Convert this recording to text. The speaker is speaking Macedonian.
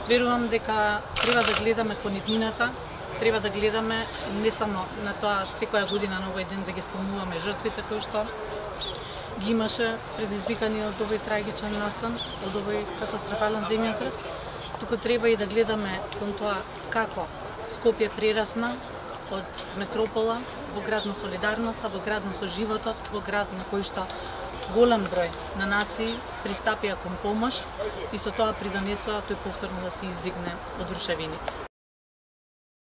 Верувам дека треба да гледаме кон иднината, треба да гледаме не само на тоа секоја година на овој ден да ги спомнуваме жртвите кои што ги имаше предизвикани од овој трагичен настан, од овој катастрофален земјотрес, туку треба и да гледаме кон тоа како Скопје прерасна од метропола во град на солидарноста, во град на соживотот, во град на кој што голем број на нации пристапија кон помош и со тоа придонесоа тој повторно да се издигне од рушевините.